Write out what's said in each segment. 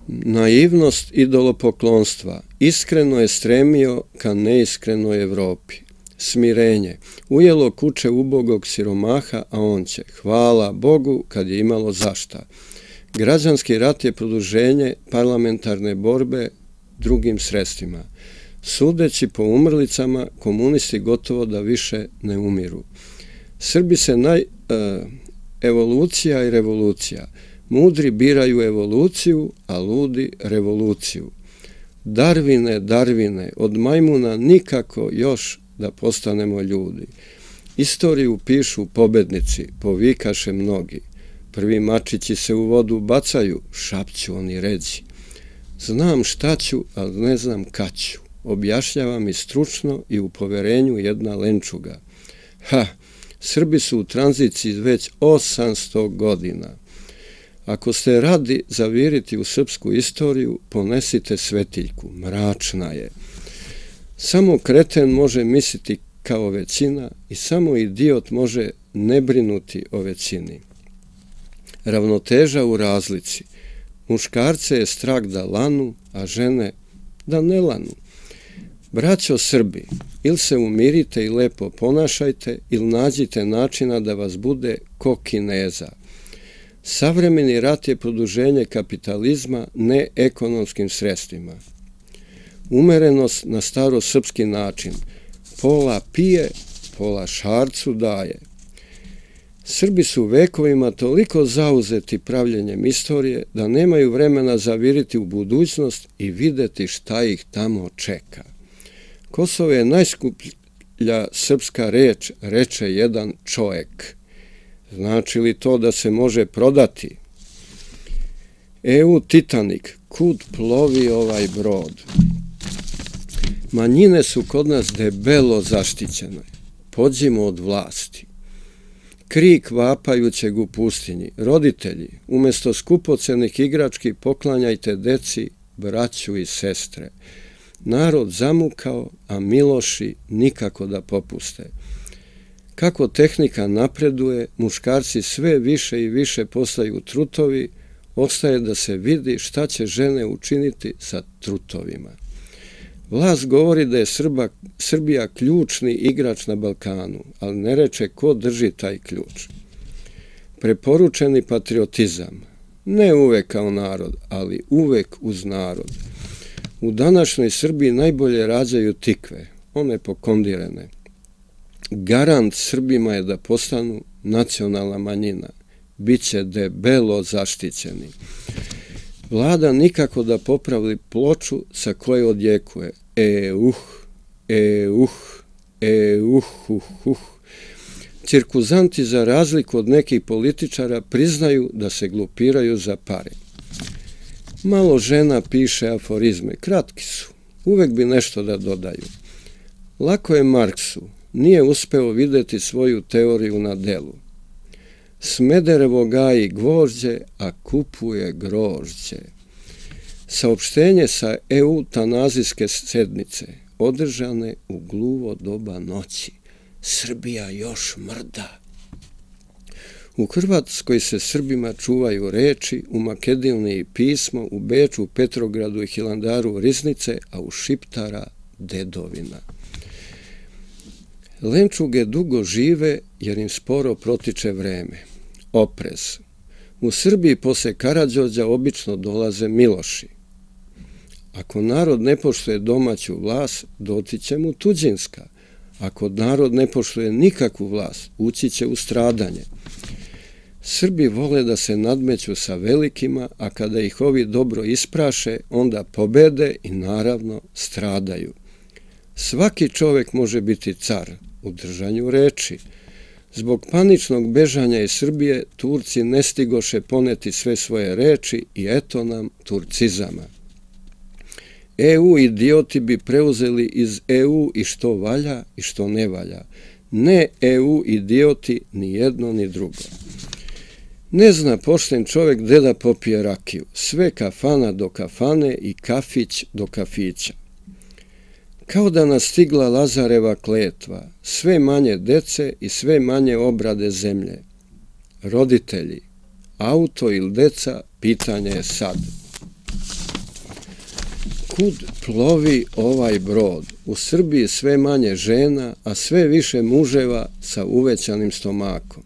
Naivnost idolopoklonstva iskreno je stremio ka neiskrenoj Evropi. Smirenje ujelo kuće ubogog siromaha, a on će, hvala Bogu, kad je imalo zašta. Građanski rat je produženje parlamentarne borbe drugim sredstvima. Sudeći po umrlicama, komunisti gotovo da više ne umiru. Srbi se evolucija i revolucija. Mudri biraju evoluciju, a ludi revoluciju. Darvine, Darvine, od majmuna nikako još da postanemo ljudi. Istoriju pišu pobednici, povikaše mnogi. Prvi mačići se u vodu bacaju, šapću oni ređi. Znam šta ću, ali ne znam kad ću. Objašnjava mi stručno i u poverenju jedna lenčuga. Srbi su u tranziciji već 800 godina. Ako ste radi zaviriti u srpsku istoriju, ponesite svetiljku, mračna je. Samo kreten može misliti kao većina i samo idiot može ne brinuti o većini. Ravnoteža u razlici. Muškarce je strah da lanu, a žene da ne lanu. Braćo Srbi, ili se umirite i lepo ponašajte, ili nađite načina da vas bude ko Kineza. Savremeni rat je produženje kapitalizma ne ekonomskim sredstvima. Umerenost na starosrpski način. Pola pije, pola šarcu daje. Srbi su vekovima toliko zauzeti pravljenjem istorije da nemaju vremena zaviriti u budućnost i videti šta ih tamo čeka. Kosovo je najskuplja srpska reč, reče jedan čovjek. Znači li to da se može prodati? EU Titanik, kud plovi ovaj brod? Manjine su kod nas debelo zaštićene. Pođimo od vlasti. Krik vapajućeg u pustinji. Roditelji, umjesto skupocenih igrački poklanjajte deci, braću i sestre. Narod zamukao, a miloši nikako da popuste. Kako tehnika napreduje, muškarci sve više i više postaju trutovi, ostaje da se vidi šta će žene učiniti sa trutovima. Vlast govori da je Srbija ključni igrač na Balkanu, ali ne reče ko drži taj ključ. Preporučeni patriotizam, ne uvek kao narod, ali uvek uz narod. U današnjoj Srbiji najbolje rađaju tikve, one pokondirene. Garant Srbima je da postanu nacionalna manjina. Biće debelo zaštićeni. Vlada nikako da popravi ploču sa koje odjekuje. Cirkuzanti za razliku od nekih političara priznaju da se glupiraju za pare. Malo žena piše aforizme, kratki su, uvek bi nešto da dodaju. Lako je Marksu, nije uspeo videti svoju teoriju na delu. Smederevo gaji gvožđe, a kupuje grožđe. Saopštenje sa eutanazijske sednice, održane u gluvo doba noći. Srbija još mrda. U Hrvatskoj se Srbima čuvaju reči, u Makedoniji pismo, u Beču, Petrogradu i Hilandaru riznice, a u Šiptara dedovina. Lenčuge dugo žive jer im sporo protiče vreme. Oprez. U Srbiji posle Karađorđa obično dolaze Miloši. Ako narod ne poštuje domaću vlast, dotiće mu tuđinska. Ako narod ne poštuje nikakvu vlast, ući će u stradanje. Srbi vole da se nadmeću sa velikima, a kada ih ovi dobro ispraše, onda pobede i naravno stradaju. Svaki čovek može biti car u držanju reči. Zbog paničnog bežanja iz Srbije, Turci ne stigoše poneti sve svoje reči i eto nam turcizama. EU idioti bi preuzeli iz EU i što valja i što ne valja. Ne EU idioti ni jedno ni drugo. Ne zna pošten čovek gde da popije rakiju. Sve kafana do kafane i kafić do kafića. Kao da nas stigla Lazareva kletva, sve manje dece i sve manje obrade zemlje. Roditelji, auto ili deca, pitanje je sad. kud plovi ovaj brod? U Srbiji sve manje žena, a sve više muževa sa uvećanim stomakom.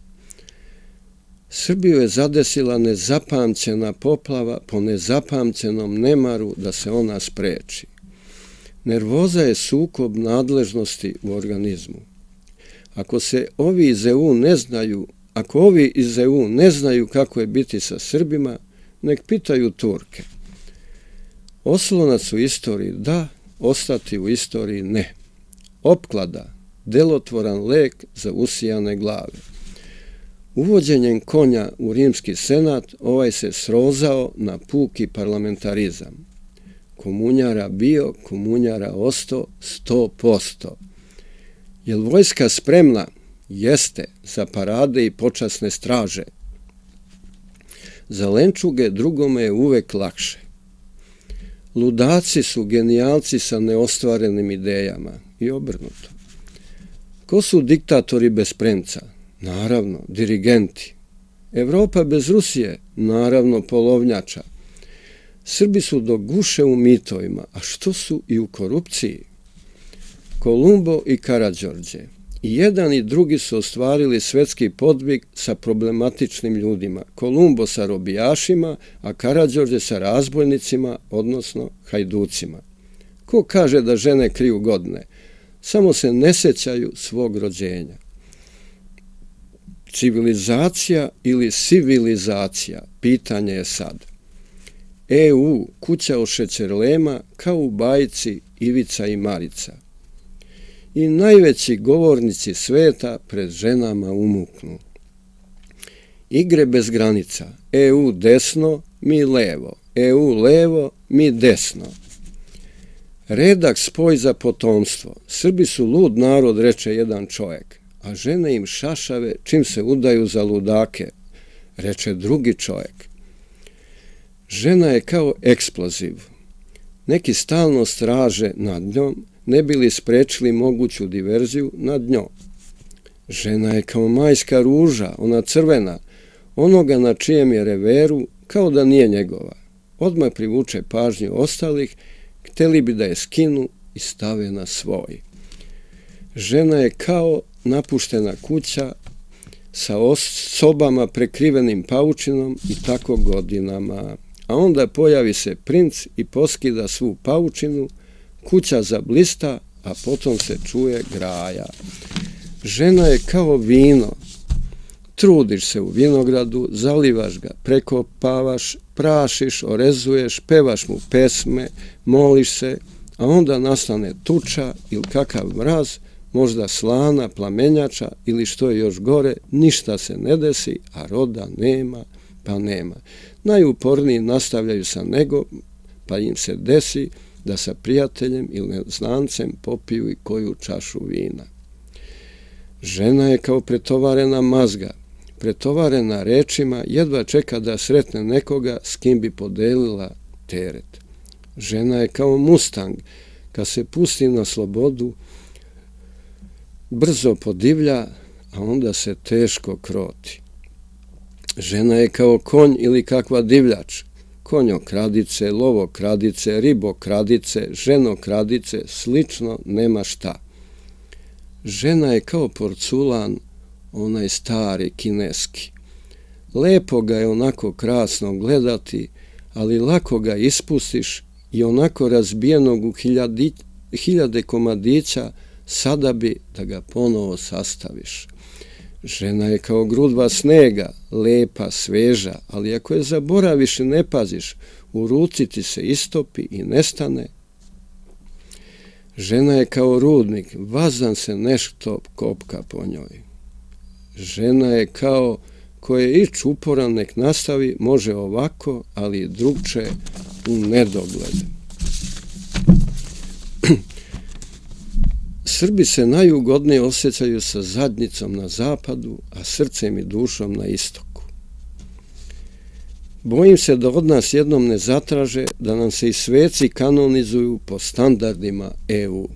Srbiju je zadesila nezapamćena poplava po nezapamćenom nemaru da se ona spreči. Nervoza je sukob nadležnosti u organizmu. Ako ovi iz EU ne znaju kako je biti sa Srbima, nek pitaju Turke. Oslonac u istoriji da, ostati u istoriji ne. Opklada, delotvoran lek za usijane glave. Uvođenjem konja u rimski senat ovaj se srozao na puki parlamentarizam. Komunjara bio, komunjara osto, 100%. Jel vojska spremna? Jeste, za parade i počasne straže. Za lenčuge drugome je uvek lakše. Ludaci su genijalci sa neostvarenim idejama i obrnuto. Ko su diktatori bez premca? Naravno, dirigenti. Evropa bez Rusije? Naravno, polovnjača. Srbi su do guše u mitovima, a što su i u korupciji? Kolumbo i Karađorđe. I jedan i drugi su ostvarili svetski podvig sa problematičnim ljudima. Kolumbo sa robijašima, a Karađorđe sa razbojnicima, odnosno hajducima. Ko kaže da žene kriju godine? Samo se ne sećaju svog rođenja. Civilizacija ili civilizacija? Pitanje je sad. EU, kuća od šećerlema, kao u bajci Ivica i Marica. I najveći govornici sveta pred ženama umuknu. Igre bez granica. EU desno, mi levo. EU levo, mi desno. Redak spoj za potomstvo. Srbi su lud narod, reče jedan čovjek, a žene im šašave čim se udaju za ludake, reče drugi čovjek. Žena je kao eksploziv. Neki stalno straže nad njom, ne bi li sprečili moguću diverziju nad njom. Žena je kao majska ruža, ona crvena, onoga na čijem je reveru, kao da nije njegova. Odmah privuče pažnju ostalih, hteli bi da je skinu i stave na svoj. Žena je kao napuštena kuća sa sobama prekrivenim paučinom i tako godinama. A onda pojavi se princ i poskida svu paučinu, kuća zablista, a potom se čuje graja. Žena je kao vino. Trudiš se u vinogradu, zalivaš ga, prekopavaš, prašiš, orezuješ, pevaš mu pesme, moliš se, a onda nastane tuča ili kakav mraz, možda slana, plamenjača ili što je još gore, ništa se ne desi, a roda nema, pa nema. Najuporniji nastavljaju sa nego, pa im se desi da sa prijateljem ili neznancem popiju i koju čašu vina. Žena je kao pretovarena mazga, pretovarena rečima, jedva čeka da sretne nekoga s kim bi podelila teret. Žena je kao mustang, kad se pusti na slobodu, brzo podivlja, a onda se teško kroti. Žena je kao konj ili kakva divljač, konjokradice, lovokradice, ribokradice, ženokradice, slično nema šta. Žena je kao porculan, onaj stari kineski. Lepo ga je onako krasno gledati, ali lako ga ispustiš i onako razbijenog u hiljade komadića sada bi da ga ponovo sastaviš. Žena je kao grudva snega, lepa, sveža, ali ako je zaboraviš i ne paziš, u ruci ti se istopi i nestane. Žena je kao rudnik, vazdan se nešto kopka po njoj. Žena je kao koje ić uporan nek nastavi, može ovako, ali drugče u nedogled. Srbi se najugodnije osjećaju sa zadnjicom na zapadu, a srcem i dušom na istoku. Bojim se da od nas jednom ne zatraže da nam se i sveci kanonizuju po standardima EU.